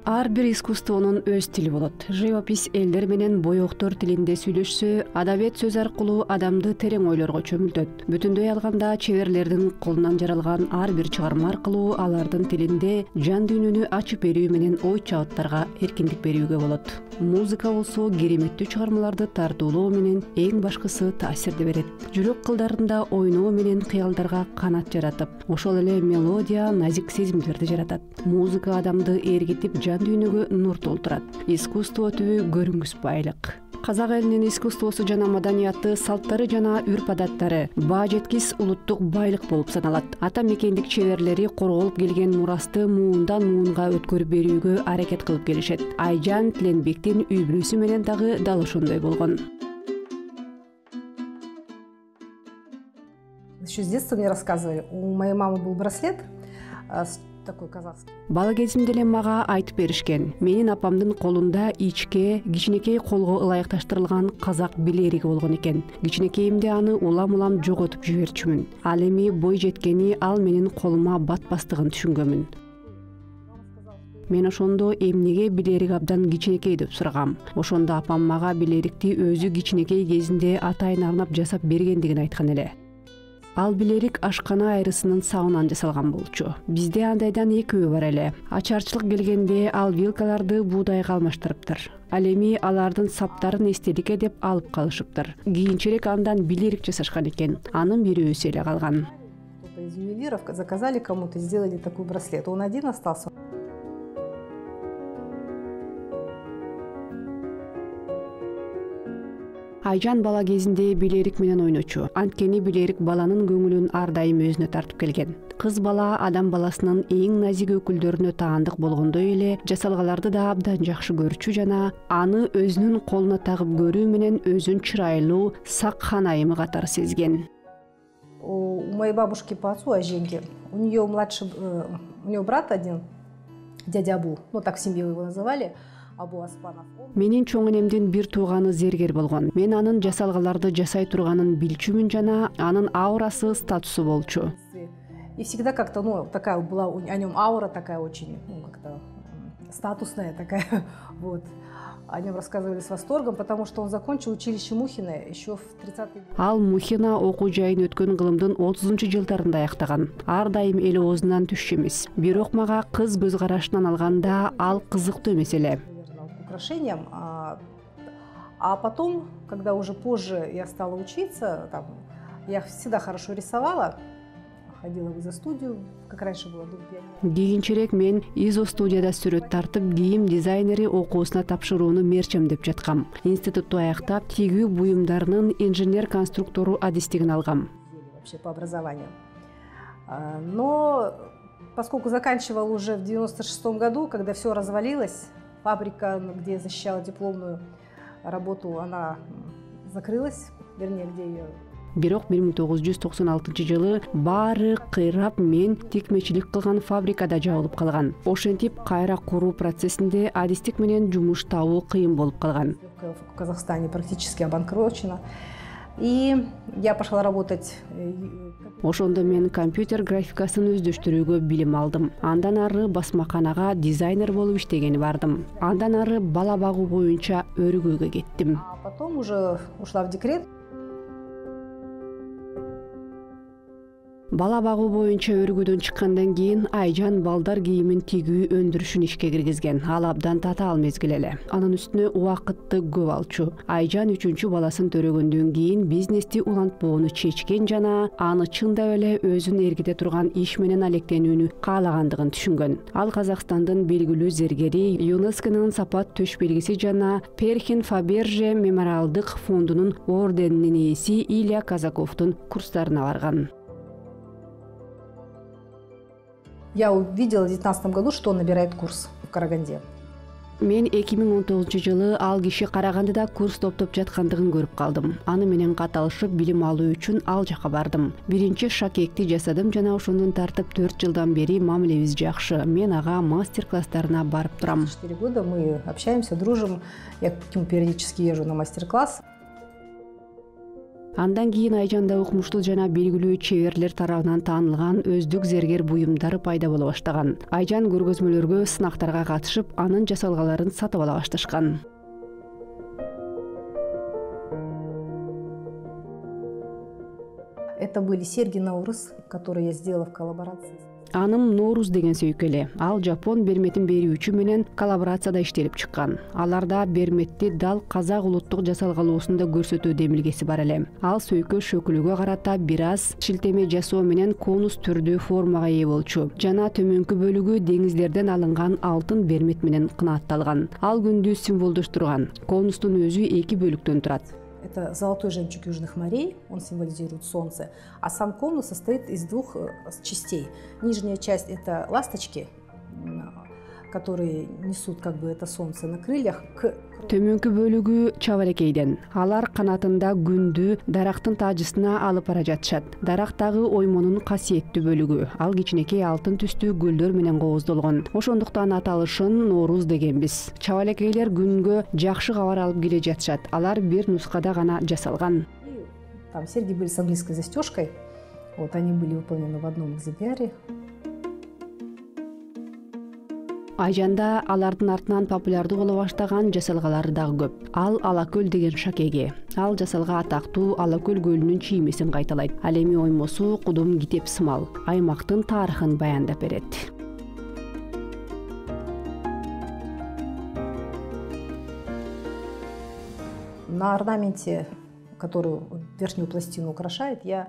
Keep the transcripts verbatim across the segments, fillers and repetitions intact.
Ар бир искусствонун өз тили болот. Живопись элдер менен боектор тилинде сүйлөшсө, адабият сөз аркылуу адамды терең ойлорго чөмүлтөт. Бүтүндөй алганда чеберлердин колунан жаралган ар бир чыгарма аркылуу алардын тилинде жан дүйнөнү ачып берүү менен ой чабыттарга эркиндик берүүгө болот. Музыка болсо кереметтүү чыгармаларды тартуулоо менен эң башкысы таасирди берет. Жүрөк кылдарында ойноо менен кыялдарга канат жаратып, ошол эле мелодия назик сезимдерди жаратат. Музыка адамды эргитип жан дүйнөгө нур толтурат. Искусство түбү көрүнгүс байлык. Казак элинин искусствосу жана маданияты, салттары жана үрп-адаттары баа жеткис улуттук байлык болуп саналат. Ата мекендик чеберлери корголуп келген мурасты муундан муунга өткөрүп берүүгө аракет кылып келишет. Айжан Тиленбектин үй бүлөсү менен дагы дал ошондой болгон. Еще с детства мне рассказывали, у моей мамы был браслет такой казахский. Бала кезимде эле мага айтып беришкен. Менин апамдын колунда ичке, кичинекей колго ылайыкташтырылган казак билериги болгон экен. Кичинекейимде аны улам-улам жоготуп жиберчүмүн. Ал эми бой жеткени ал менин колума батпастыгын түшүнгөнмүн. Мен ошондо эмнеге билерик абдан кичинекей деп сурагам. Ошондо апам мага билерикти өзү кичинекей кезинде атайын арнап жасап бергендигин айткан эле. Ал билерик ашкана айрысынын сабынан жасалган болчу. Бизде андайдан экөө бар эле. Ачарчылык келгенде ал вилкаларды буудайга алмаштырыптыр. Ал эми алардын саптарын эстеликке деп алып калышыптыр. Кийинчерээк андан билерик жасашкан экен. Анын бирөөсү эле калган. Кто-то из ювелиров заказали кому-то, сделали такой браслет. Он один остался. Айжан бала кезинде билерик менен ойночу. Анткени билерик баланын көңүлүн ар дайым өзүнө тартып келген. Кыз бала адам баласынын эң назик өкүлдөрүнө таандык болгондой эле жасалгаларды да абдан жакшы көрчү жана аны өзүнүн колуна тагып көрүү менен өзүн чырайлуу, сак хан айымы катары сезген. У моей бабушки по отцу, Аженьки, у нее младший, у нее брат один, дядя Абу, ну так в семье его называли. Менин чоң энемдин бир тууганы зергер болгон. Мен анын жасалгаларды жасай турганын билчүмүн жана анын аурасы, статусу болчу. И всегда как-то, ну, такая была о нем аура такая очень, ну, как-то статусная такая, вот. О нем рассказывали с восторгом, потому что он закончил училище Мухина еще в тридцатые годы. Ал Мухина окуу жайын өткөн кылымдын отузунчу жылдарында аяктаган. Ар дайым эл оозунан түшчү эмес. Бирок мага кыз көз карашынан алганда ал кызыктуу эмес эле. Украшением, а, а потом, когда уже позже я стала учиться, там, я всегда хорошо рисовала, ходила в изо-студию, как раньше было. Кийинчерээк мен изо-студияда сүрөт тартып, кийим дизайнери окуусуна тапшырууну мерчемдеп жаткам. Институтту аяктап, тигүү буюмдарынын инженер-конструктору адистигин алгам. Вообще по образованию. Но поскольку заканчивала уже в девяносто шестом году, когда все развалилось, фабрика, где я защищала дипломную работу, она закрылась, вернее, где ее... Бирок бир миң тогуз жүз токсон алтынчы жылы баары кыйрап мен тикмечилик кылган фабрикада жабылып калган. Ошентип кайра куруу процессинде адистик менен жумуш табуу кыйын болуп калган. В Казахстане практически обанкрочена. И я пошла работать. Ошондо мен компьютер графикасын өздөштүрүүгө билим алдым. Андан ары басмаканага дизайнер болуп иштегени бардым. Андан ары бала багуу боюнча өргүүгө кеттим. А потом уже ушла в декрет. Бала багуу боюнча өргүүдөн чыккандан кийин Айжан балдар кийимин тигүү өндүрүшүн ишке киргизген. Ал абдан татаал мезгил эле. Анын үстүнө убакытты көп алчу. Айжан үчүнчү баласын төрөгөндөн кийин бизнести улантпоону чечкен жана аны чындап эле өзүн эргите турган иш менен алектенүүнү каалагандыгын түшүнгөн. Ал Казакстандын белгилүү зергери, ЮНЕСКОнун сапат төш белгиси жана Перхин Фаберже мемориалдык фондунун орденинин ээси Илья Казаковдун курстарына барган. Я увидела в две тысячи девятнадцатом году, что он набирает курс в Караганде. Мен эки миң он тогузунчу жылы ал киши Карагандыда курс топтоп жаткандыгын көрүп калдым. Аны менен каталышып билим алуу үчүн ал жака бардым. Биринчи шакекти жасадым жана ошондон тартып төрт жылдан бери мамилебиз жакшы. Мен ага мастер-класстарына барып турам. четыре года мы общаемся, дружим. Я к нему периодически езжу на мастер-класс. Андан кийин Айжанда укмуштуу жана белгилүү чеберлер тарабынан таанылган өздүк зергер буюмдары пайда боло баштаган. Айжан көргөзмөлөргө, сынактарга катышып, анын жасалгаларын сатып ала башташкан. Это были серьги Наурыз, которые я сделала в коллаборации. Аным Норуз деген сөйкөле. Ал жапон берметин берүүчү менен коллаборацияда иштелип чыккан. Аларда берметти дал казак улуттук жасалгалуусунда көрсөтүү демилгеси бар эле. Ал сөйкө шөкүлүгө карата бир аз шилтеме жасоо менен конус түрдүү формага ээ болчу. Жана төмөнкү бөлүгү деңиздерден алынган алтын бермет менен кынаатталган. Ал күндү символдоштурган. Конустун өзү эки бөлүктөн турат. Это золотой жемчуг южных морей, он символизирует солнце, а сам конус состоит из двух частей. Нижняя часть – это ласточки, которые несут как бы это солнце на крыльях. Төмөнкү бөлүгү чабалекейден. Алар канатында күндү дарактын тажысына алып бара жатышат. Дарактагы оймонун касиеттүү бөлүгү. Ал кичинекей алтын түстүү гүлдөр менен кооздолгон. Ошондуктан аталышын Норуз дегенбиз. Чабалекейлер күнгө жакшы кабар алып келе жатышат. Алар бир нускада гана жасалган. Там серьги были с английской застежкой. Вот они были выполнены в одном экземпляре. Айжанда алардын артынан популярдуу боло баштаган жасалгалары дагы көп. Ал Алакөл деген шакеге. Ал жасалга атактуу Алакөл көлүнүн чиймесин кайталайт. Ал эми оймосу кудум китеп сымал. Аймактын тарыхын баяндап берет. На орнаменте, который верхнюю пластину украшает, я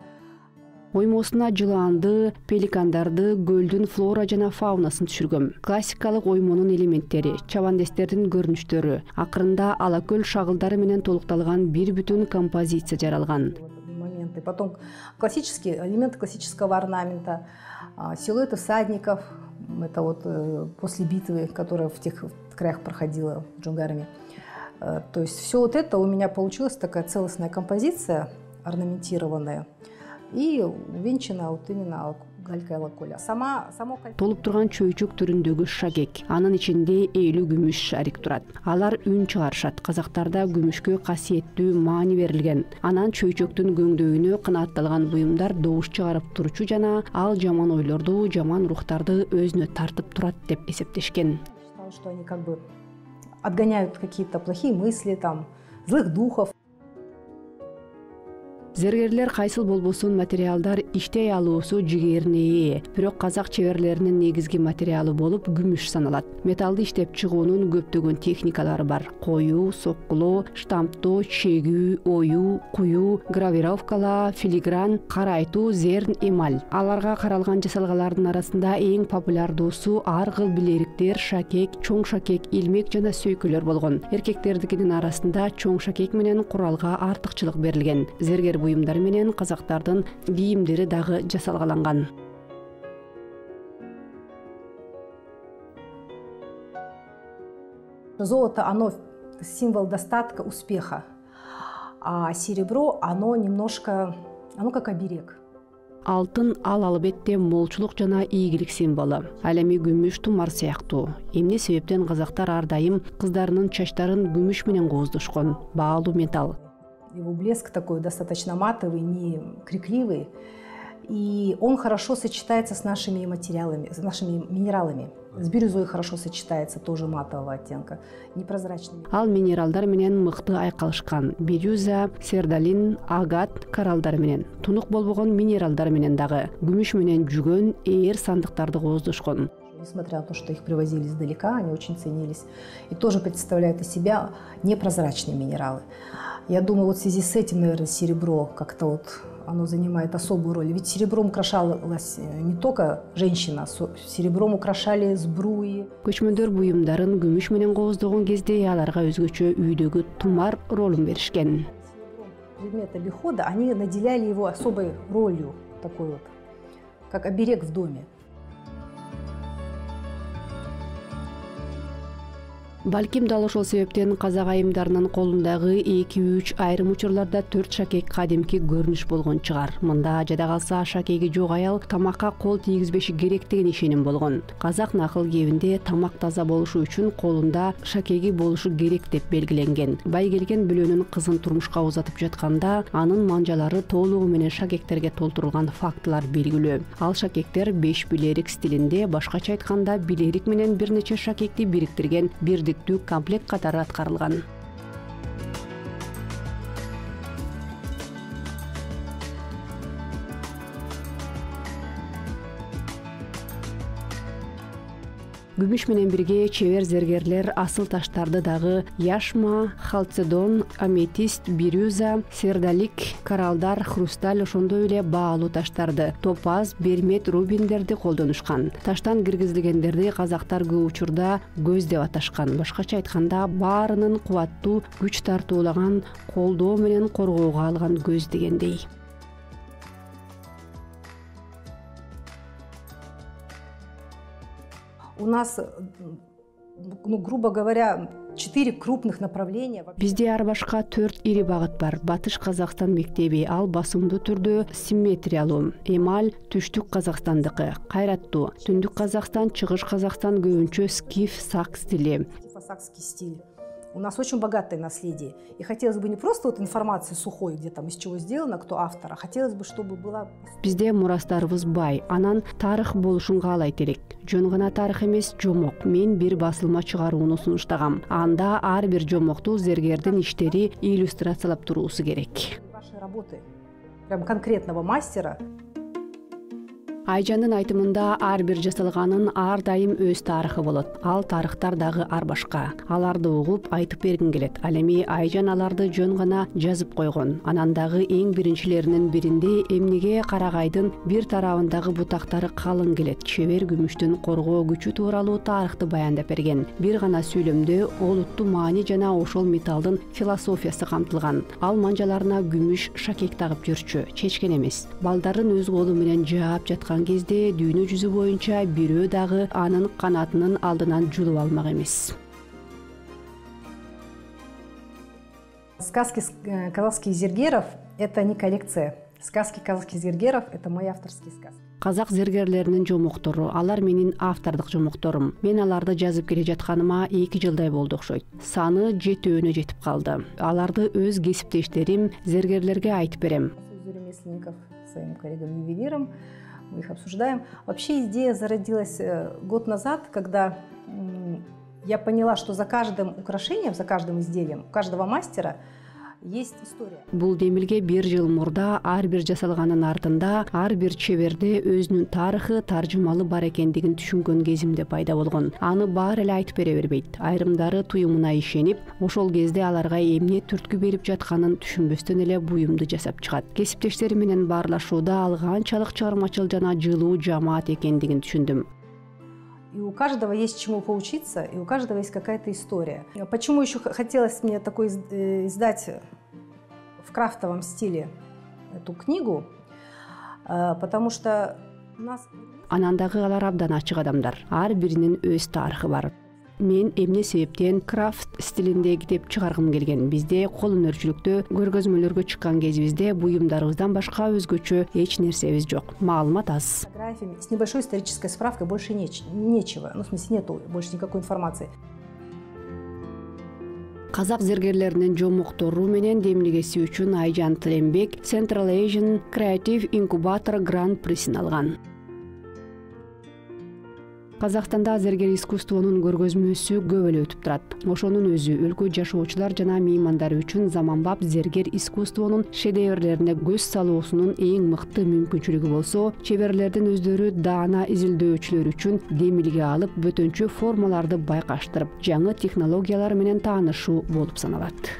Оймосуна жылаанды, пеликандарды, көлдүн флора жана фаунасын түшүргөм. Классикалык оймонун элементтери, чабандестердин көрүнүштөрү, акырында Алакөл шагылдары менен толукталган бир бүтүн композиция жаралган. Моменты. Потом классические элементы классического орнамента, силуэты всадников, это вот после битвы, которая в тех краях проходила в Джунгарме. То есть все вот это у меня получилась такая целостная композиция, орнаментированная. И увенчана вот именно галькой Алакөля. Сама, само... Толуп турган чөйчөк түрүндөгү шагек. Анын ичинде элүү күмүш шарик турат. Алар үн чыгарышат. Казактарда күмүшкө касиеттүү маани берилген. Анан чөйчөктүн көңдөйүнө кынаатталган буюмдар добуш чыгарып турчу жана ал жаман ойлорду, жаман рухтарды өзүнө тартып турат деп эсептешкен. Считал, что они как бы отгоняют какие-то плохие мысли, там, злых духов. Зергерлер кайсыл болбосун материалдар иштей алуусу жигерине ээ. Бирок казак чеберлеринин негизги материалы болуп күмүш саналат. Металлды иштеп чыгуунун көптөгөн техникалары бар. Коюу, соккулоо, штамптоо, чегүү, оюу, куюу, гравировкалоо, филигран, карайтуу, зерн, эмаль. Аларга каралган жасалгалардын арасында эң популярдуусу ар кыл билериктер, шакек, чоң шакек, илмек жана сөйкөлөр болгон. Эркектердикинин арасында чоң шакек менен куралга артыкчылык берилген. Зергер буюмдар менен казактардын кийимдери дагы жасалгаланган. Золото, оно символ достатка, успеха, а серебро, оно немножко, оно как оберег. Алтын ал албетте молчулук жана ийгилик символу. Ал эми күмүш тумар сыяктуу. Эмне себептен казактар ар дайым кыздарынын чачтарын күмүш менен кооздошкон? Баалуу металл. Его блеск такой достаточно матовый, не крикливый. И он хорошо сочетается с нашими материалами, с нашими минералами. С бирюзой хорошо сочетается, тоже матового оттенка, непрозрачный. Ал минералдар менен мыкты айкалышкан. Бирюза, сердалин, агат, коралдар менен. Тунук болбогон минералдар менен дагы. Күмүш менен жүгөн, ээр сандыктарды кооздошкон. Несмотря на то, что их привозили издалека, они очень ценились. И тоже представляют из себя непрозрачные минералы. Я думаю, вот в связи с этим, наверное, серебро как-то вот оно занимает особую роль. Ведь серебром украшалась не только женщина, серебром украшали сбруи. Көчмөндөр буюмдарын күмүш менен кооздогон кезде аларга өзгөчө үйдөгү тумар ролун беришкен. Предметы обихода, они наделяли его особой ролью, такой вот, как оберег в доме. Балким дал ошол себептен казак айымдарынын колундагы эки үч айрым учурларда төрт шакек кадимки көрүнүш болгон чыгар. Мында жада калса шакеги жок аял тамакка кол тийгизбеши керек деген ишеним болгон. Казак накыл кебинде тамак таза болушу үчүн колунда шакеги болушу керек деп белгиленген. Бай келген бүлөнүн кызын турмушка узатып жатканда анын манжалары толугу менен шакектерге толтурулган фактылар белгилүү. Ал шакектер беш билерик стилинде, башкача айтканда билерик менен бир нече шакекти бириктирген бирдиктүү комплект катары аткарылган. Күмүш менен бирге чебер зергерлер асыл таштарды дагы яшма, халцедон, аметист, бирюза, сердалик, коралдар, хрусталь, ошондой эле баалуу таштарды, топаз, бермет, рубиндерди колдонушкан. Таштан киргизилгендерди казактар көп учурда көз деп аташкан. Башкача айтканда баарынын кубаттуу күч тартуулаган, колдоо менен коргоого алган көз дегендей. У нас, ну, грубо говоря, четыре крупных направления. Бизде ар башка төрт ири багыт бар. Батыш Казакстан мектеби, ал басымдуу түрдө симметриялуу. Эмаль түштүк Казакстандыкы, кайраттуу. Түндүк Казакстан, чыгыш Казакстан көбүнчө скиф, сак стили. Сакский стиль. У нас очень богатое наследие. И хотелось бы не просто вот информации сухой, где там из чего сделано, кто автор, а хотелось бы, чтобы была... Бизде мурастарыбыз бай, анан тарых болушун каалайт элек. Жөн гана тарых эмес, жомок. Мен бир басылма чыгарууну сунуштагам. Анда ар бир жомокту зергердин иштери иллюстрациялап туруусу керек. Ваши работы, прям конкретного мастера. Айжандын айтымында ар бир жасалганын ар дайым өз тарыхы болот. Ал тарыхтар дагы ар башка. Аларды угуп айтып бергин келет. Ал эми Айжан аларды жөн гана жазып койгон. Анан дагы эң биринчилеринин биринде эмнеге карагайдын бир тарабындагы бутактары калың келет. Чебер күмүштүн коргоо күчү тууралуу тарыхты баяндап берген. Бир гана сүйлөмдө олуттуу маани жана ошол металлдын философиясы камтылган. Ал манжаларына күмүш шакек тагып жүрчү, чечкен эмес. Балдарын өз колу менен жаап жаткан кезде дүйнө жүзү боюнча бирөө дагы анын канатынын алдынан жулуп алмак эмес. Сказки казахских зергеров — это не коллекция. Сказки казахских зергеров — это мои авторские сказки. Казак зергерлеринин жомоктору, алар менин автордук жомокторум. Мен аларды жазып келе жатканыма эки жылдай болду окшойт. Саны жетөөнө жетип калды. Аларды өз кесиптештерим, зергерлерге айтып берем. Своим коллегам-ювелирам мы их обсуждаем. Вообще идея зародилась год назад, когда я поняла, что за каждым украшением, за каждым изделием, у каждого мастера есть история. Бул демилге бир жыл мурда ар бир жасалганын артында ар бир чеберде өзүнүн тарыхы, таржымалы бар экендигин түшүнгөн кезимде пайда болгон. Аны баары эле айтып бере бербейт. Айрымдары туюмуна ишенип, ошол кезде аларга эмне түрткү берип жатканын түшүнбөстөн эле буюмду жасап чыгат. Кесиптештери менен баарлашууда ал канчалык чыгармачыл жана жылуу жамаат экендигин түшүндүм. И у каждого есть чему поучиться, и у каждого есть какая-то история. Почему еще хотелось мне такой издать в крафтовом стиле эту книгу? Потому что у нас... Анан дагы алар абдан ачык адамдар. Ар биринин өз тарыхы бар. Мен эмне себептен крафт стилиндеги деп чыгаргым келген. Бизде кол өнөрчүлүктө көргөзмөлөргө чыккан кезибизде буюмдарыбыздан башка өзгөчө эч нерсебиз жок. Маалымат аз. С небольшой исторической справкой больше неч- нечего. Ну, в смысле, нету больше никакой информации. Казак зергерлеринин жомоктору менен демилгеси үчүн Айжан Тилембек Central Asian Creative Incubator Grand Prix'ин алган. Казакстанда зергер искусствонун көргөзмөсү көп эле өтүп турат. Ошонун өзү өлкө жашоочулар жана меймандар үчүн заманбап зергер искусствонун шедеврлерине көз салуусунун эң мыкты мүмкүнчүлүгү болсо, чеберлердин өздөрү даана изилдөөчүлөр үчүн демилге алып, бөтөнчө формаларды байкаштырып, жаңы технологиялар менен таанышуу болуп саналат.